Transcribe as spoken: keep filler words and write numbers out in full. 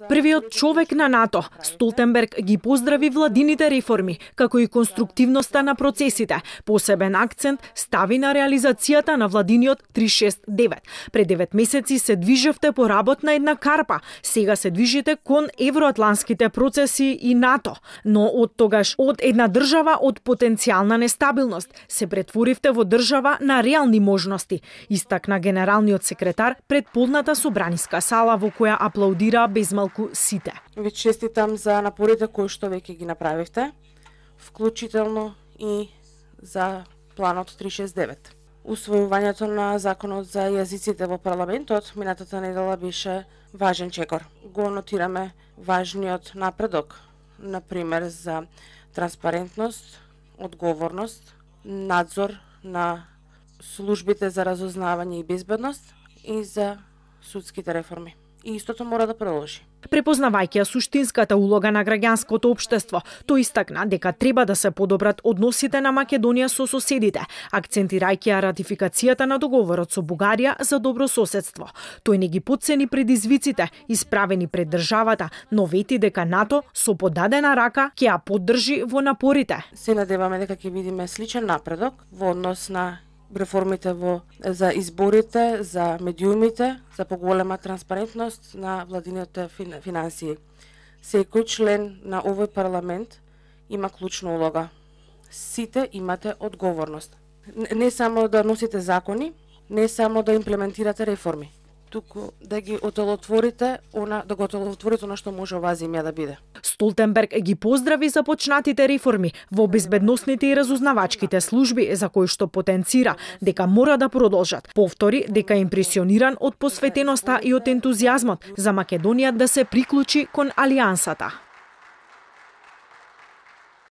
Првиот човек на НАТО, Столтенберг, ги поздрави владините реформи, како и конструктивноста на процесите. Посебен акцент стави на реализацијата на владиниот три шест девет. Пред девет месеци се движевте по работна една карпа, сега се движите кон евроатлантските процеси и НАТО. Но од тогаш од една држава од потенцијална нестабилност се претворивте во држава на реални можности, истакна генералниот секретар пред полната собраниска сала во која аплаудира безмалку сите. Ви честитам за напорите кои што веќе ги направивте, вклучително и за планот три шест девет. Усвојувањето на законот за јазиците во парламентот минатата недела беше важен чекор. Го нотираме важниот напредок, например за транспарентност, одговорност, надзор на службите за разузнавање и безбедност и за судските реформи. И истото мора да продолжи. Препознавајќи ја суштинската улога на граѓанското општество, тој истакна дека треба да се подобрат односите на Македонија со соседите, акцентирајќи ја ратификацијата на договорот со Бугарија за добро соседство. Тој не ги потцени предизвиците исправени пред државата, но вети дека НАТО со подадена рака ќе ја поддржи во напорите. Се надеваме дека ќе видиме сличен напредок во однос на реформите во за изборите, за медиумите, за поголема транспарентност на владините финансии. Секој член на овој парламент има клучна улога. Сите имате одговорност. Не само да носите закони, не само да имплементирате реформи, туку да ги отелотворите, она да го отелотворите она што може оваа земја да биде. Столтенберг ги поздрави започнатите реформи во безбедносните и разузнавачките служби за кои што потенцира дека мора да продолжат. Повтори дека е импресиониран од посветеноста и од ентузијазмот за Македонија да се приклучи кон алијансата.